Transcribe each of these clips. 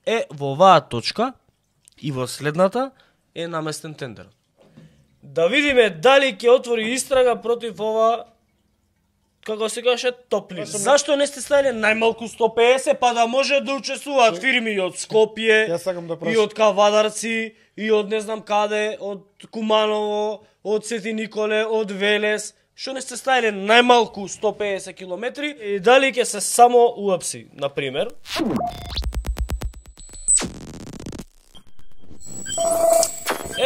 Во оваа точка и во следната е наместен тендерот. Да видиме дали ќе отвори истрага против ова, како се каже, топлина. Зашто не сте ставиле најмалку 150, па да може да учествуваат фирми и од Скопје, и од Кавадарци, и од не знам каде, од Куманово, од Свети Николе, од Велес. Што не сте ставиле најмалку 150 километри и дали ќе се само уапси, например.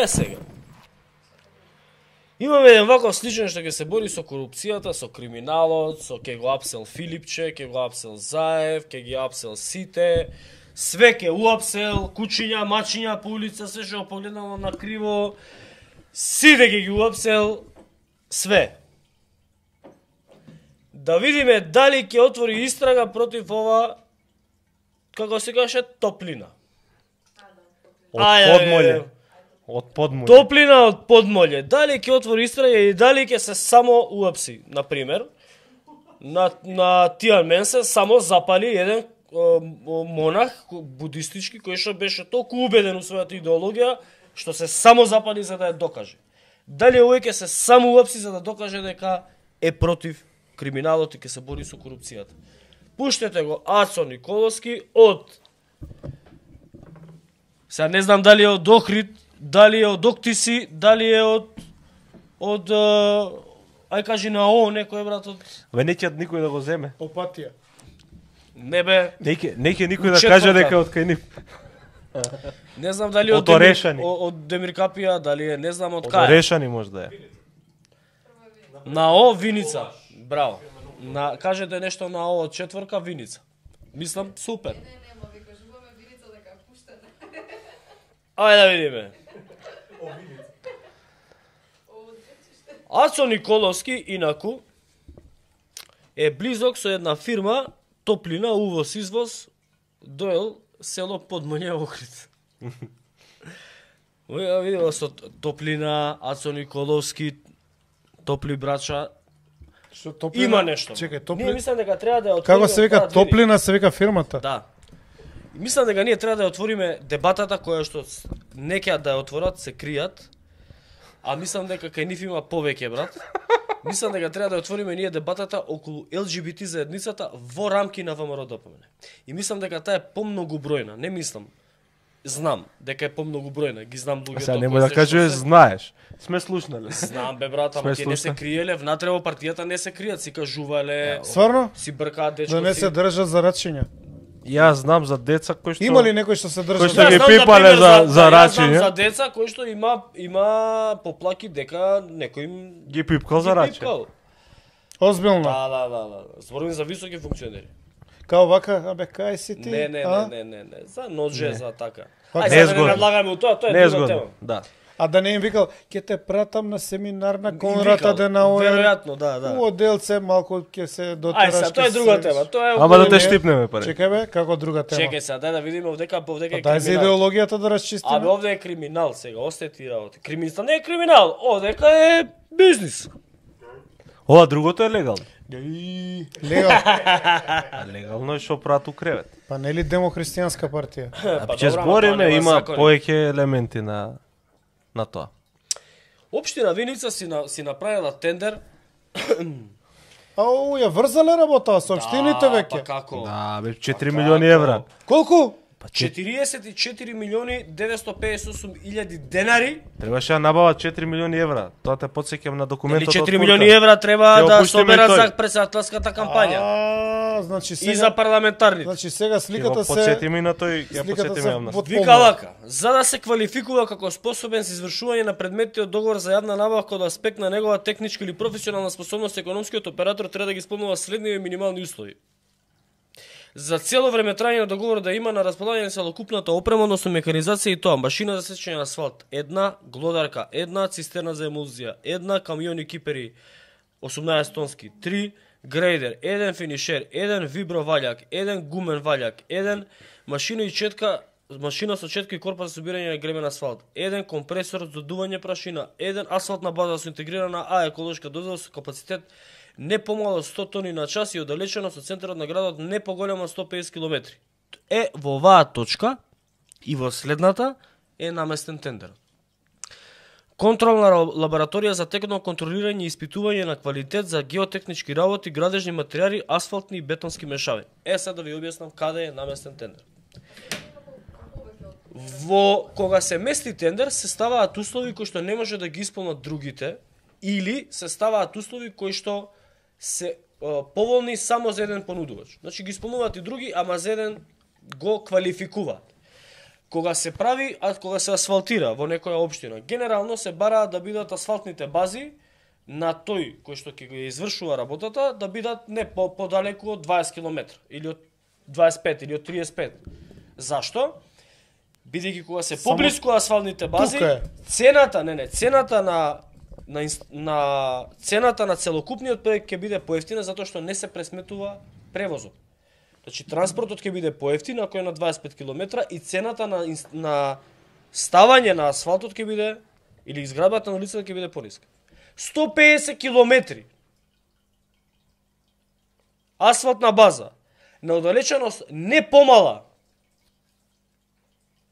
Сега. Имаме еден ваков сличен што ќе се бори со корупцијата, со криминалот, со ќе го апсел Филипче, ќе го апсел Заев, ќе ги апсел сите, све ќе уапсел, кучиња, мачиња по улица, се што погледнало на криво, сите ќе ги уапсел, све. Да видиме дали ќе отвори истрага против ова, како се каже, топлина. Од подмолје. Топлина од подмолје. Дали ќе отвори истрага и дали ќе се само уапси. Например, на Тијанменсе само запали еден монах будистички кој што беше толку убеден у својата идеологија што се само запали за да ја докаже. Дали овој ќе се само уапси за да докаже дека е против криминалот и ќе се бори со корупцијата. Пуштете го Ацо Николовски од... Сега не знам дали е од Охрид, дали е од Октиси, дали е од ај кажи на ООН некој брат од... Неќе никој да го земе. Опатија. Не бе. Неќе никој да каже дека од кај нив. Не знам дали од Демиркапија, дали е, не знам од кај. Од Орешани може да е. На О Виница. Браво. Кажете нешто на О од четворка Виница. Мислам супер. Ајде да видиме. Ацо Николовски, инаку, е близок со една фирма, топлина, увоз-извоз, доел село Подмолје Охрид. Видела со топлина, Ацо Николовски, топли брача, има нешто. Чекај, Ние мислам дека треба да ја отвориме... Како се вика топлина, се вика фирмата? Да. Мислам дека ние треба да ја отвориме дебатата која што не ќе да ја отворат, се кријат. А мислам дека кај нив има повеќе, брат. Мислам дека треба да ја отвориме ние дебатата околу ЛГБТ заедницата во рамки на ВМРО ДПМН. И мислам дека таа е помногубројна, не мислам. Знам дека е помногубројна, ги знам луѓето. Сега нема да кажеш знаеш. Сме слушнале. Знам бе брат, ама ќе не се криеле, внатре во партијата не се кријат, си кажувале. Стварно? Си бркаат дечко. Да не се држат за рачиња. Јас знам за деца кои што... Има ли некој што се држа? Кои што ги пипале за рачиње? Јас знам за деца кои што има поплаки дека некој им ги пипкал за рачиње. Озбилно? Да. Зборувам за високи функционери. Као вака, абе, кај си ти? Не. За нодже, за така. Не Ајде, не надлагаме у тоа, тоа е друга тема. Да. А да не им викал, ќе те пратам на семинар на Конрад Аденауер. Веројатно, да. У оделце малку ќе се дотераш. Ајде, тоа е друга тема. Тоа е Ама да те штипнеме пари. Чекај бе, како друга тема? Чекај сега, дај да видиме овдека е криминал. Дај за идеологијата да расчистиме. Абе, овде е криминал сега, остајте ти работи. Криминал не е криминал, овдека е бизнис. Ова другото е легално. Легално е што прат у кревет. Па нели демохристијанска партија? Ќе збориме, има повеќе елементи на тоа. Општина Виница си направила тендер. Ау, ја врзале работа со општините веќе. Па како? Да, бе 4 милиони евра. Колку? 44 милиони 958 илјади денари. Требаше да набават 4 милиони евра. Тоа те потсеќам на документот од 4 милиони евра треба да соберат за председателската кампања. Значи сега и за парламентарните. Значи сега сликата се потсетиме на тој, ја потсетиме јавност. Вика вака, за да се квалификува како способен за извршување на предметите од договор за јавна набавка од аспект на негова техничка или професионална способност, економскиот оператор треба да ги исполнува следните минимални услови. За цело време трајање на договорот да има на располагање целокупната опрема, односно механизација и тоа, машина за сечење на асфалт, една глодарка, една цистерна за емулзија, една камиони кипери 18 тонски, 3 грейдер, еден финишер, еден вибро валјак, еден гумен валјак, еден машина и четка, машина со четка и корпа за собирање на гремен асфалт, еден компресор за дување прашина, еден асфалтна база со интегрирана А еколошка доза со капацитет не помало 100 тони на час и оддалечено со центарот на градот не поголемо 150 км. Во оваа точка И во следната е наместен тендерот. Контролна лабораторија за текно контролирање и испитување на квалитет за геотехнички работи, градежни материјали, асфалтни и бетонски мешавини. Сега да ви објаснам каде е наместен тендер. Кога се мести тендер, се ставаат услови кои што не може да ги исполнат другите, или се ставаат услови кои што се поволни само за еден понудувач. Значи ги исполнуваат и други, ама за еден го квалификуваат. Кога се прави, кога се асфалтира во некоја општина, генерално се бараат да бидат асфалтните бази на тој кој што ќе го извршува работата, да бидат не подалеку од 20 км, или од 25, или од 35. Зашто? Бидејќи кога се поблиску асфалтните бази, цената на целокупниот проект ќе биде поевтина затоа што не се пресметува превозот. Значи транспортот ќе биде поевтин ако е на 25 км и цената на ставање на асфалтот ќе биде или изградбата на улицата ќе биде пониска. 150 км асфалтна база на оддалеченост не помала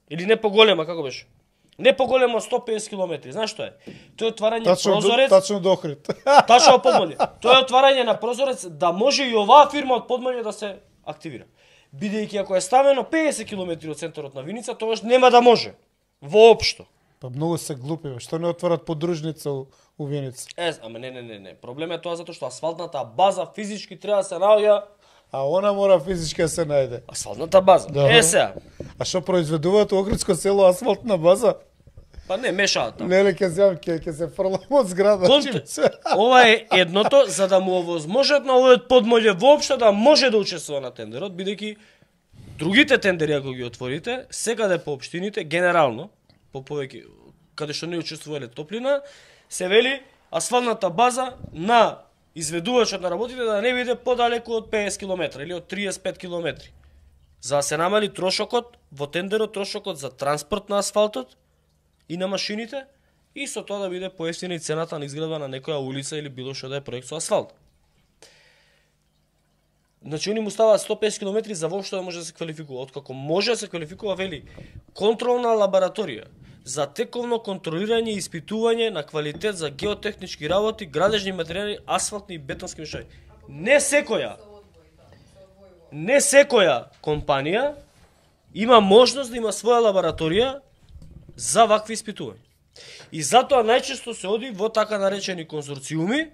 или не поголема, како беше? Не поголема 150 км. Знаеш што е? Тоа е отварање прозорец. Тачно до Охрид. Тачно Подмолје. Тоа е отварање на прозорец да може и оваа фирма од Подмолје да се активира. Бидејќи ако е ставено 50 км од центарот на Виница, тогаш нема да може. Воопшто. Па многу се глупи, што не отварат подружница у Виница. Ама не. Проблемот е тоа затоа што асфалтната база физички треба да се наоѓа. А она мора физички да се најде. Асфалтната база. Да. Сега. А што произведуваат у Охридско село асфалтна база? Па не мешаат таму. Нели ќе се фрлам од зграда. Ова е едното за да му овозможат на овој Подмолје воопшто да може да учествува на тендерот, бидејќи другите тендери ако ги отворите, секаде по општините генерално, по повеќе каде што не учествувале топлина, се вели асфалтната база на изведувачот на работите да не биде подалеку од 50 км или од 35 км. За да се намали трошокот во тендерот, трошокот за транспорт на асфалтот и на машините, и со тоа да биде поевтина и цената на изградба на некоја улица или било што да е проект со асфалт. Значи, они му ставаат 150 км за воопшто да може да се квалификува. Откако може да се квалификува, вели, контролна лабораторија за тековно контролирање и испитување на квалитет за геотехнички работи, градежни материјали, асфалтни и бетонски мешави. Не секоја компанија има можност да има своја лабораторија за вакви испитувања. И затоа најчесто се оди во така наречени конзорциуми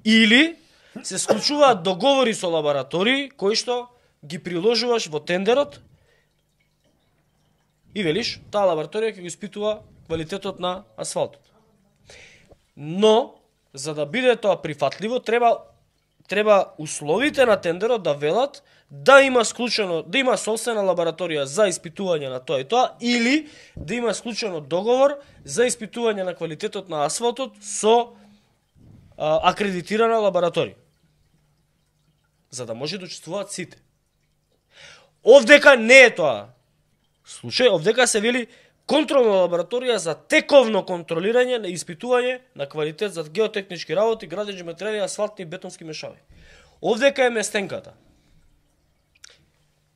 или се склучуваат договори со лаборатории кои што ги приложуваш во тендерот и велиш, таа лабораторија ќе го испитува квалитетот на асфалтот. Но, за да биде тоа прифатливо, треба условите на тендерот да велат да има склучено, да има собствена лабораторија за испитување на тоа и тоа, или да има склучено договор за испитување на квалитетот на асфалтот со акредитирана лабораторија. За да може да учествуваат сите. Овдека не е тоа случај, овдека се вели контролна лабораторија за тековно контролирање на испитување на квалитет за геотехнички работи, градежни материјали, асфалтни и бетонски мешави. Овдека е местенката.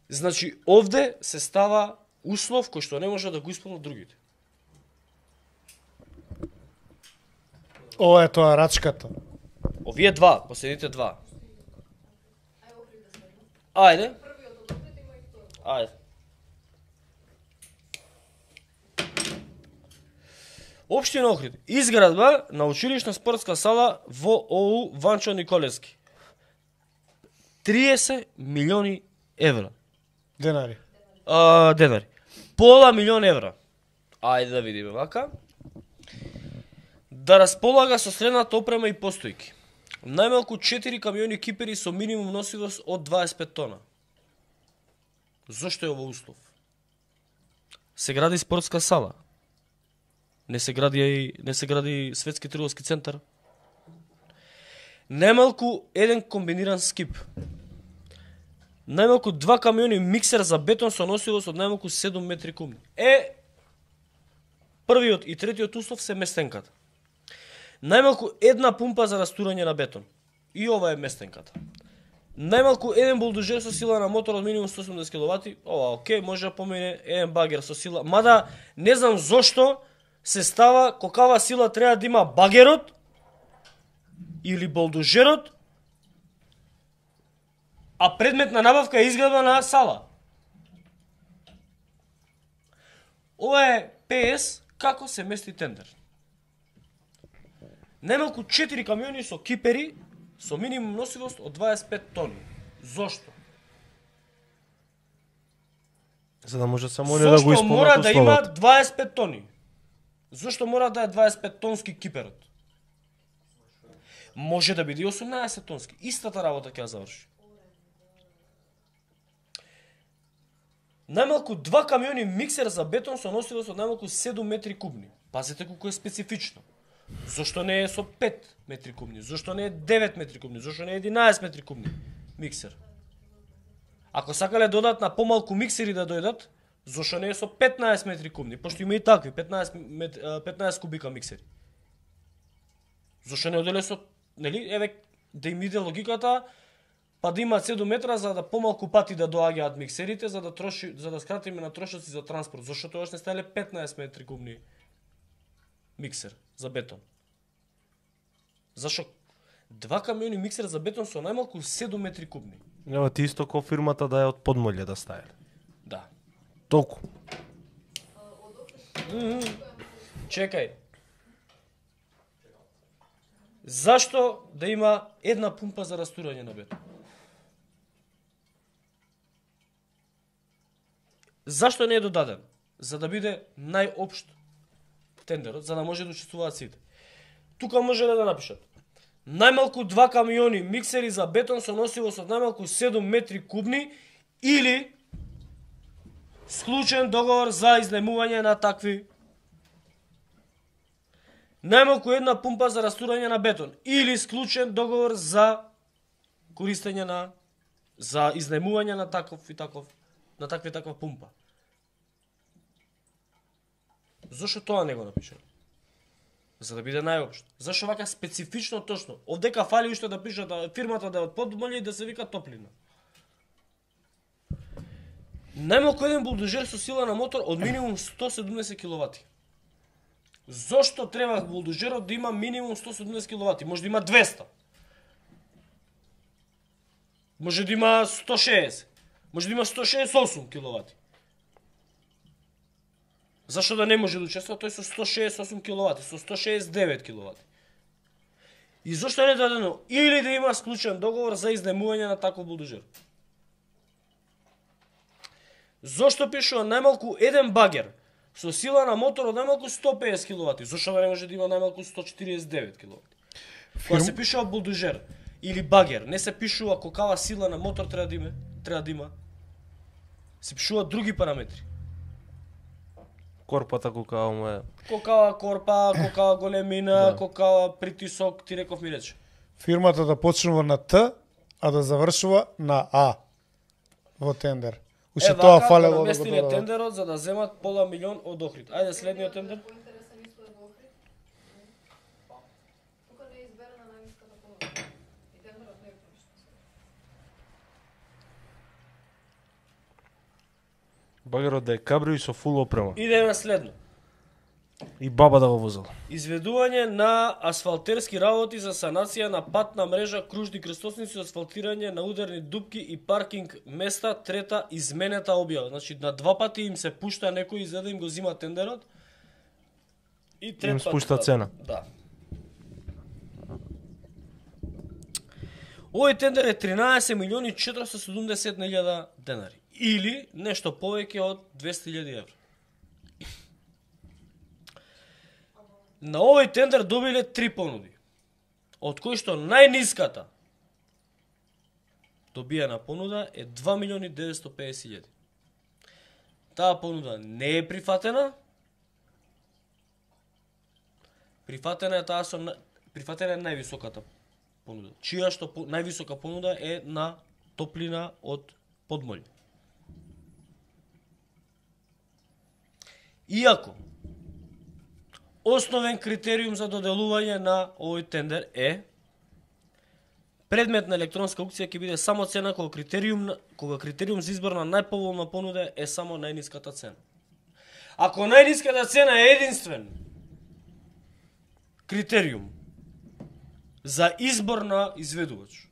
Значи, овде се става услов кој што не може да го исполнат другите. Ова е тоа рачката. Овие два, последните два. Ајде. Ајде. Општина Охрид. Изградба на училишна спортска сала во ОУ Ванчо Николевски. 30 милиони евра. Денари. Денари. Пола милион евра. Ајде да видиме вака. Да располага со следната опрема и постојки. Најмалку 4 камиони кипери со минимум носивост од 25 тона. Зошто е ова услов? Се гради спортска сала. Не се гради светски трговски центар. Најмалку еден комбиниран скип. Најмалку 2 камиони миксер за бетон со носивост од најмалку 7 метри кубни. Првиот и третиот услов се местенката. Најмалку една пумпа за растурање на бетон. И ова е местенката. Најмалку еден булдожер со сила на мотор од минимум 180 киловати, ова окей, може да помине еден багер со сила, мада не знам зошто се става какава сила треба да има багерот или булдожерот, а предмет на набавка е изградба на сала. Ова е ПС како се мести тендер. Најмалку 4 камиони со кипери со минимум носивост од 25 тони. Зошто? За да може само не да го исполнат условот. Зошто мора да има 25 тони? Зошто мора да е 25 тонски киперот? Може да биде 18 тонски. Истата работа ќе ја заврши. Најмалку 2 камиони миксер за бетон со носивост од најмалку 7 метри кубни. Пазете колку е специфично. Зошто не е со 5 метри кубни? Зошто не е 9 метри кубни? Зошто не е 11 метри кубни миксер? Ако сакале додат на помалку миксери да дојдат, зошто не е со 15 метри кубни? Пошто има и такви, 15 кубика миксери. Зошто не оделе со, нели, еве, да им иде логиката, па да имаат 7 метра за да помалку пати да доаѓаат миксерите, за да скратиме на трошоци за транспорт. Зошто тогаш не ставиле 15 метри кубни миксер за бетон? Зашо 2 камиони миксер за бетон со најмалку 7 метри кубни? Ева ти исто ко фирмата да е од подмолје да ставиле. Да. Толку. Чекај. Зашто да има една пумпа за растурање на бетон? Зашто не е додаден? За да биде најопшт тендерот, за да може да учествуваат сите. Тука може да напишат најмалку 2 камиони миксери за бетон со носивост од најмалку 7 метри кубни или склучен договор за изнајмување на такви. Најмалку една пумпа за растурање на бетон или склучен договор за користење за изнајмување на таков и таков, на таква и таква пумпа. Зошто тоа не го напишале? За да биде најопшто. Зашто вака специфично точно? Овдека фали уште да пишат да фирмата да е од подмолје и да се вика топлина. Најмалку еден булдожер со сила на мотор од минимум 170 киловати. Зошто треба булдожерот да има минимум 170 киловати? Може да има 200. Може да има 160. Може да има 168 киловати. Зашто да не може да учествува тој со 168 киловати, со 169 киловати? И зошто не дадено или да има склучен договор за изнајмување на таков булдожер? Зошто пишува најмалку еден багер со сила на мотор од најмалку 150 киловати? Зошто да не може да има најмалку 149 киловати? Кога се пишува булдожер или багер, не се пишува какава сила на мотор треба да има. Се пишуваат други параметри. Корпата колкава му е. Колкава корпа, колкава големина, колкава притисок, ти реков ми рече. Фирмата да почнува на Т, а да завршува на А во тендер. Уште тоа фалело да го додадат. Тендерот за да земат пола милион од Охрид. Ајде следниот тендер. Багерот да е кабрио и со фул опрема. Идеме следно. И баба да го возела. Изведување на асфалтерски работи за санација на патна мрежа, кружни крстосници, асфалтирање на ударни дупки и паркинг места, трета изменета објава. Значи на 2 пати им се пушта некој за да им го зима тендерот. И трет им спушта цена. Да. Овој тендер е 13 милиони 470.000 денари. Или нешто повеќе од 200.000 евра. На овој тендер добиле 3 понуди, од кои што најниската добиена понуда е 2.950.000. Таа понуда не е прифатена. Прифатена е највисоката понуда, чија што највисока понуда е на топлина од подмолје. Иако основен критериум за доделување на овој тендер е Предмет на електронска аукција ќе биде само цена кога критериум за избор на најповолна понуда е само најниската цена. Ако најниската цена е единствен критериум за избор на изведувач,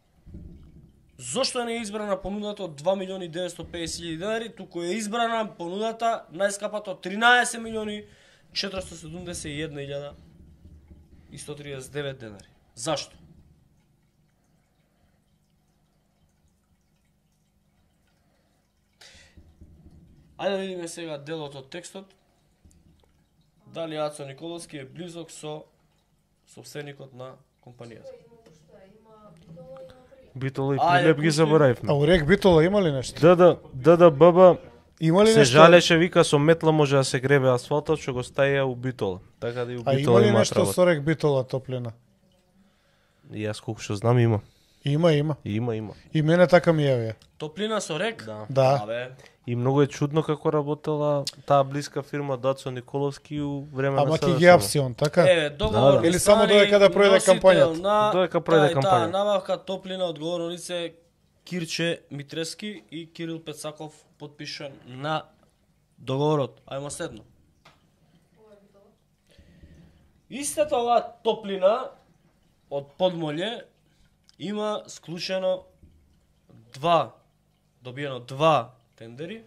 зошто не е избрана понудата од 2.950.000 денари, туку е избрана понудата најскапата од 13.471.139 денари? Зашто? Ајде да видиме сега делот од текстот. Дали Ацо Николовски е близок со собственикот на компанијата? Битола и Прилеп ги заборавивме. А урек Битола има ли нешто? ДДБ има ли се нешто? жалеше, вика со метла може да се гребе асфалтот, што го стаја у Битола. Така да и у А Битола има ли има нешто со рек Битола топлина? И јас колку што знам има. Има. Има. И мене така ми јавија. Топлина со рек? Да. Абе, И многу е чудно како работела таа блиска фирма Дацо Николовски у време на Ама СДСМ. ќе ги апсион, така? договор Или само додека да пројде кампањата? Додека пројде кампањата. Набавка топлина одговорно лице Кирче Митрески и Кирил Пецаков потпишан на договорот. Ајмо следно. Истата оваа топлина од Подмолје има склучено добиено два тендери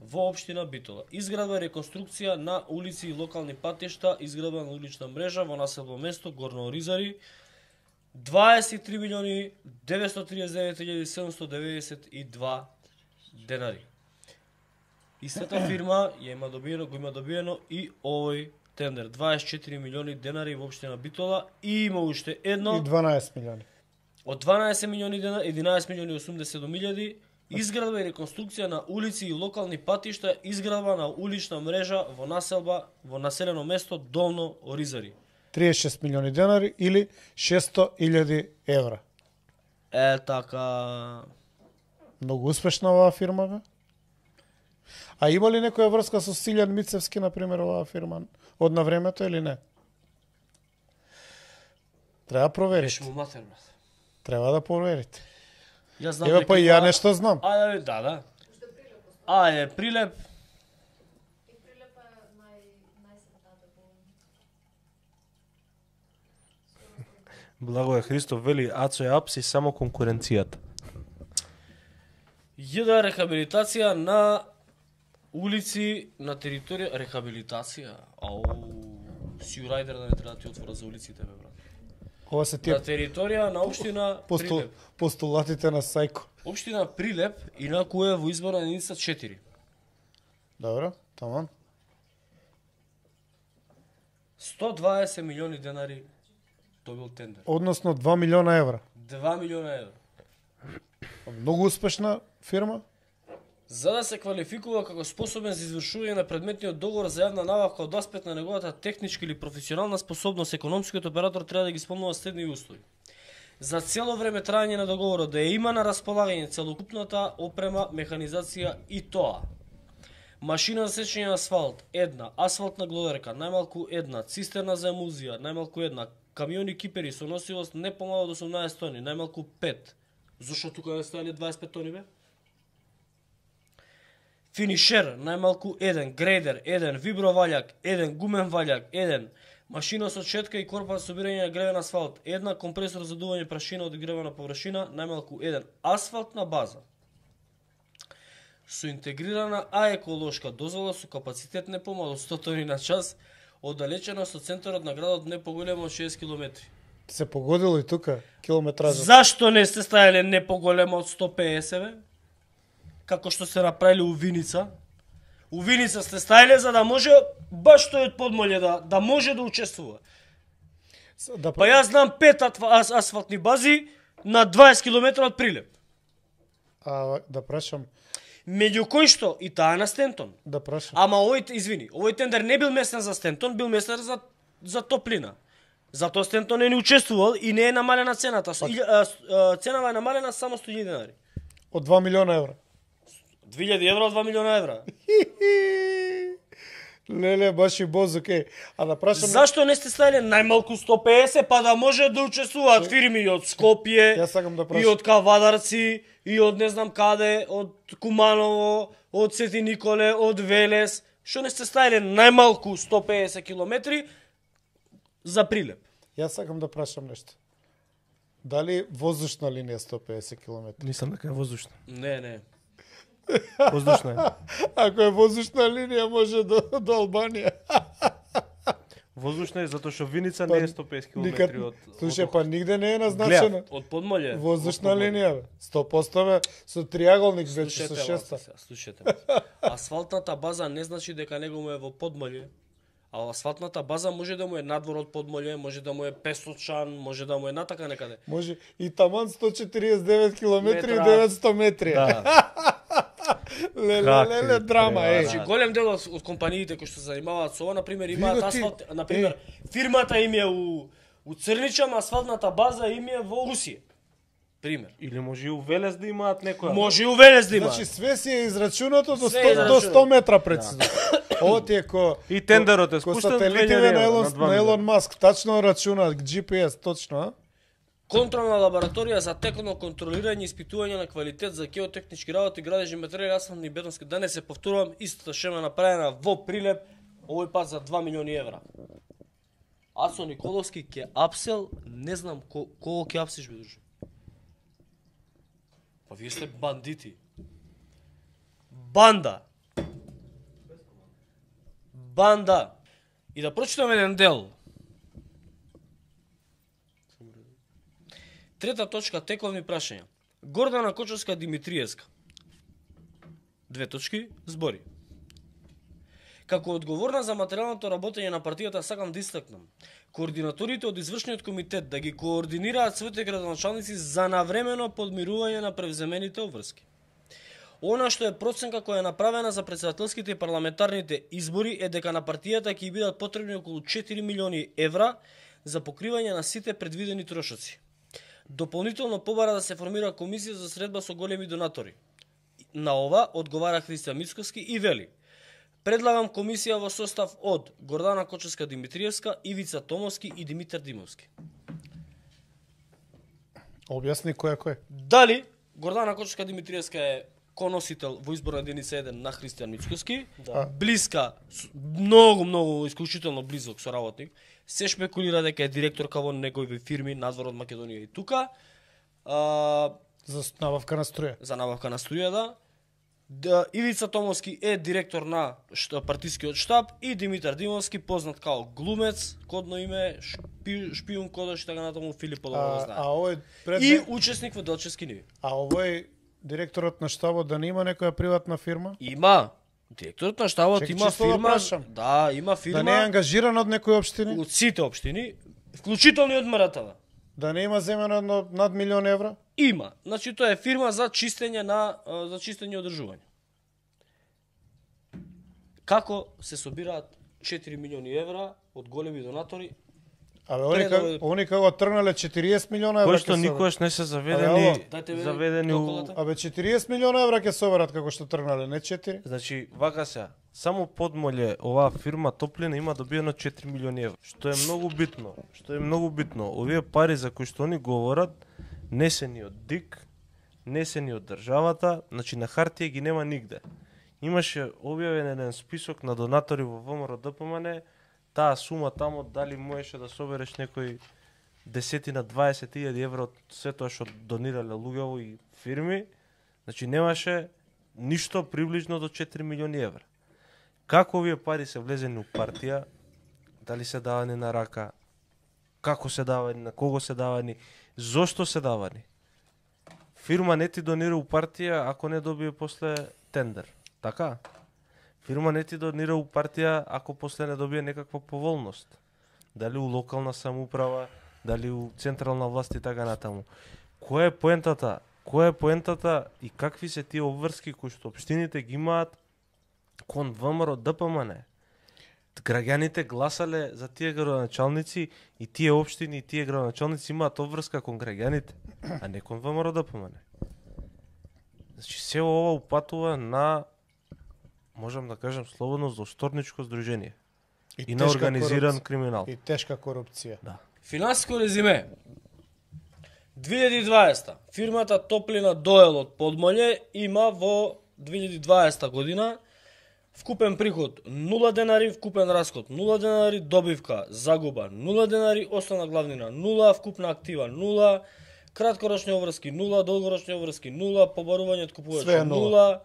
во општина Битола. Изградба и реконструкција на улици и локални патишта, изградба на улична мрежа во населбо место Горно Оризари, 23.939.792 денари. Истата фирма го има добиено и овој тендер, 24 милиони денари во општина Битола, и има уште едно И 12 милиони. од 12 милиони денари, 11 милиони 80.000 изградба и реконструкција на улици и локални патишта, изградба на улична мрежа во населено место Долно Оризари. 36 милиони денари или 600.000 евра. Така. Многу успешна оваа фирма, бе. А има ли некоја врска со Силјан Мицевски, например, оваа фирма од на времето или не? Треба проверите. Беше му матер, брат. Треба да проверите. Јас знам Еве дека па и ја нешто знам. Ајде, да. Ајде, Прилеп. И Прилеп е најсретната по... Благоја Христов вели, Ацо е апси само конкуренцијата. Једа рехабилитација на улици на територија... Рехабилитација? Сјурајдер да не треба да ти отвора за улиците, бе, брат. Ова се тие На територија на општина Прилеп. постулатите на Сајко. Општина Прилеп инаку е во изборна единица 4. Добро, таман. 120 милиони денари добил тендер. Односно 2 милиона евра. 2 милиона евра. Многу успешна фирма. За да се квалификува како способен за извршување на предметниот договор за јавна набавка од аспект на неговата техничка или професионална способност, економскиот оператор треба да ги исполнува следни услови. За цело време трајање на договорот да ја има на располагање целокупната опрема, механизација и тоа: машина за сечење на асфалт, една, асфалтна глодарка, најмалку една, цистерна за емулзија, најмалку една, камиони кипери со носивост не помало од 18 тони, најмалку 5. Зошто тука не стоеле 25 тони, бе? Финишер, најмалку 1, грейдер 1, вибровалјак 1, гумен валјак 1, машина со четка и корпа за собирање на гревен асфалт 1, компресор за дување прашина од гревена површина, најмалку 1, асфалтна база со интегрирана еколошка дозвола со капацитет не помало од 100 тони на час, оддалечена со центарот на градот не поголемо од 6 км. Се погодило и тука километража. Зашто не сте ставиле не поголемо од 150, бе? Како што се направиле у Виница. У Виница сте ставиле за да може баш тој од Подмолје да може да учествува. Па јас знам 5 асфалтни бази на 20 км од Прилеп. Да прашам. Меѓу кои што и таа на Стентон. Да прашам. Ама овој тендер не бил местен за Стентон, бил местен за топлина. Затоа Стентон не учествувал и не е намалена цената. Цената е намалена само 100.000 денари. Од 2 милиона евра. 2000 евро од 2 милиона евра. Леле, баш и бозук, А да прашам... Зашто не сте ставиле најмалку 150, па да може да учествуваат фирми и од Скопје, Јас сакам да и прашам. од Кавадарци, и од не знам каде, од Куманово, од Свети Николе, од Велес. Што не сте ставиле најмалку 150 километри за Прилеп? Јас сакам да прашам нешто. Дали воздушна линија 150 км? Мислам дека е воздушна. Не. Воздушна е. Ако е воздушна линија, може до Албанија. Воздушна е затоа што Виница не е 150 км од... Слушај, па нигде не е назначено. Од Подмолје. Воздушна линија, бе. 100% бе, со триаголник вече со шеста. Слушайте. Асфалтната база не значи дека него му е во Подмолје. А асфалтната база може да му е надвор од Подмолје, може да му е Песочан, може да му е натака некаде. Може и таман 149 км и Метра. 900 метри. Да. Леле, драма, Значи голем дел од компаниите кои што се занимаваат со ова, на пример, имаат Види ти, асфалт, на пример, фирмата им е у Црничам, асфалтната база им е во Русија. Пример. Или може и у Велес да имаат некоја. Може и у Велес да имаат. Значи све си е израчунато до Све е 100, до израчунато. 100 метра прецизно. Ово ти е И тендерот е ко спуштен сателитите 2000 на евра, на Елон Маск, тачно рачунаат GPS, точно, а? Контролна лабораторија за текно контролирање и испитување на квалитет за геотехнички работи, градежни материјали, асфалтни и бетонски. Да не се повторувам, истата шема направена во Прилеп, овој пат за 2 милиони евра. Ацо Николовски ке апсел, не знам кого ке апсиш, бе друже. Па вие сте бандити. Банда. И да прочитам еден дел. Трета точка, тековни прашања. Гордана Кочовска Димитриевска. 2 точки, збори. Како одговорна за материјалното работење на партијата сакам да истакнам координаторите од извршниот комитет да ги координираат своите градоначалници за навремено подмирување на превземените обврски. Она што е проценка која е направена за претседателските и парламентарните избори е дека на партијата ќе бидат потребни околу 4 милиони евра за покривање на сите предвидени трошоци. Дополнително побара да се формира комисија за средба со големи донатори. На ова одговара Христијан Мицковски и вели: предлагам комисија во состав од Гордана Кочовска Димитриевска, Ивица Томовски и Димитар Димовски. Објасни кој е. Дали Гордана Кочовска Димитриевска е коносител во изборна единица 1 на Христијан Мицковски, блиска, многу исклучително близок соработник, се шпекулира дека е директорка во негови фирми надвор од Македонија и тука. За набавка на струја. За набавка на струја, да. Ивица Томовски е директор на партискиот штаб и Димитар Димовски, познат као глумец, кодно име, шпион кодош и така натаму, Филип подобро знае. А овој И учесник во Делчевски ниви. А овој директорот на штабот да не има некоја приватна фирма? Има. Директорот на штабот Чекай, има чисто да фирма. прашам. Да, има фирма. Да не е ангажиран од некои општини? Од сите општини, вклучително и од МРТВ. Да не има земено над милион евра? Има. Значи тоа е фирма за чистење и одржување. Како се собираат 4 милиони евра од големи донатори? Абе, они кога тргнале 40 милиона евра. Кој што никогаш не се заведени у... Абе 40 милиона евра ќе соберат како што тргнале, не 4. Значи, вака се, само Подмолје, оваа фирма Топлина има добиено 4 милиони евра. Што е многу битно. Овие пари за кои што они говорат, не се ни од ДИК, не се ни од државата, значи на хартија ги нема нигде. Имаше објавен еден список на донатори во ВМРО ДПМН, таа сума тамо дали можеше да собереш некои 10-20 евра од се тоа што донирале луѓе и фирми, значи немаше ништо приближно до 4 милиони евра. Како овие пари се влезени у партија, дали се давани на рака, како се давани, на кого се давани, зошто се давани? Фирма не ти донира у партија ако не добие после тендер, така? Фирма не ти донира у партија ако после не добие некаква поволност. Дали у локална самоуправа, дали у централна власт и така натаму. Која е поентата и какви се тие обврски кои што општините ги имаат кон ВМРО ДПМН? Граѓаните гласале за тие градоначалници и тие општини и тие градоначалници имаат обврска кон граѓаните, а не кон ВМРО ДПМН. Значи се ова упатува на можам да кажам слободно, злошторничко здружение и на тешка организиран корупција. криминал. И тешка корупција. Да. Финансиско резиме. 2020 фирмата Топлина Доел од Подмоле има во 2020 година вкупен приход 0 денари, вкупен расход 0 денари, добивка, загуба 0 денари, основна главнина 0, вкупна актива 0, краткорочни обврски 0, долгорочни обврски 0, побарување од купувачи Све е 0,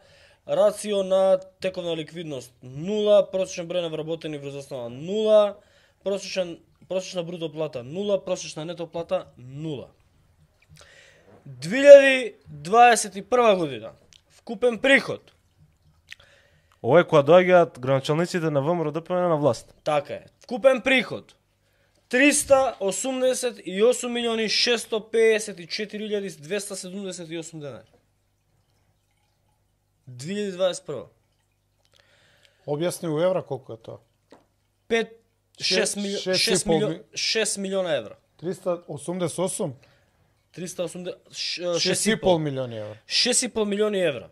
рацио на тековна ликвидност 0, просечен број на вработени врз основа 0, просечна бруто плата 0, просечна нето плата 0. 2021 година вкупен приход. Ова е кога доаѓаат граначалниците на ВМРО ДПМН на власт. Така е. Вкупен приход 388 милиони 654.278 денари. 2021. Објасни у евра колку е тоа? 6 милиона евра. 388? 6,5 милиони евра. 6,5 милиони евра.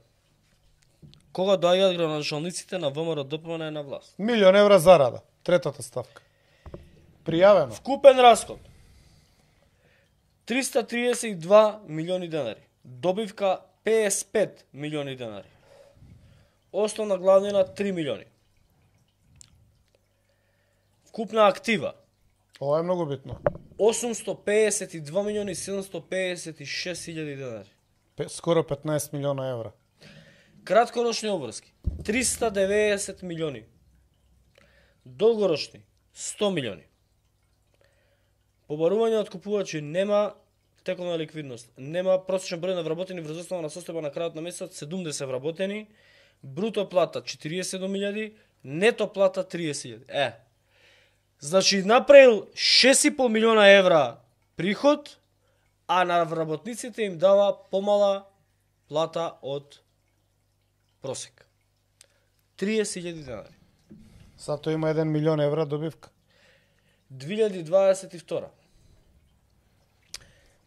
Кога доаѓаат граначалниците на ВМРО ДПМН на власт. Милион евра зарада. Третата ставка. Пријавено. Вкупен расход 332 милиони денари. Добивка 55 милиони денари. Основна главнина 3 милиони. Вкупна актива Ова е многу битно. 852 милиони 756 хиljadi денари. Скоро 15 милиона евра. Краткорочни обврски 390 милиони. Долгорочни 100 милиони. Побарување од купувачи нема тековна ликвидност, нема просечен број на вработени врз основа на состојба на крајот на месецот 70 вработени, бруто плата 47.000, нето плата 30.000. Значи направил 6,5 милиона евра приход, а на вработниците им дава помала плата од просек. 30.000 денари. Сато има 1 милион евра добивка. 2022.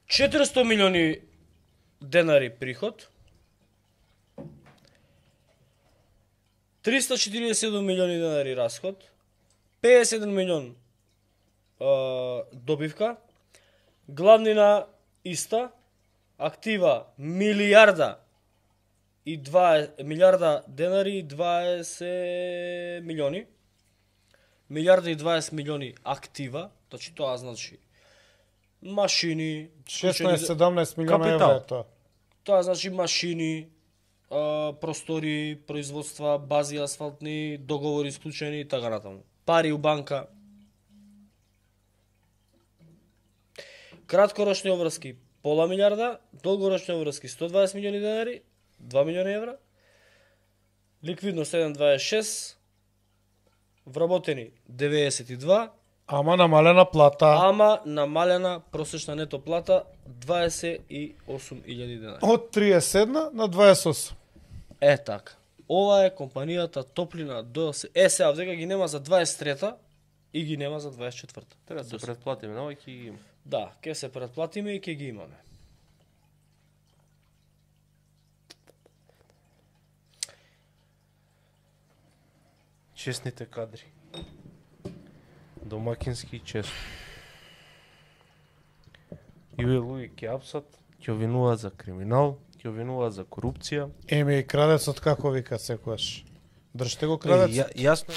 400 милиони денари приход. 347 милиони денари расход. 51 милион добивка. Главнина иста. Актива милиарда денари и 20 милиони. Милиарда и 20 милиони актива, значи тоа значи машини, 16-17 милиона евра е тоа. Тоа значи машини, простори, производства, бази асфалтни, договори исклучени и така натаму. Пари у банка. Краткорочни обврски пола милиарда, долгорочни обврски 120 милиони денари, 2 милиони евра. Ликвидност 1,26, вработени 92, Ама намалена плата. ама намалена просечна нето плата 28.000 денари. Од 31 на 28. Така. Ова е компанијата Топлина Доел. Сега дека ги нема за 23-та и ги нема за 24-та. Треба да се предплатиме, но ќе ги има. Да, ќе се предплатиме и ќе ги имаме. Честните кадри. Домакински и честно. И овие луѓе ќе апсат, ќе обвинуваат за криминал, ќе обвинуваат за корупција. Еме и крадецот како вика секојаш. Држте го крадецот. Јасно е.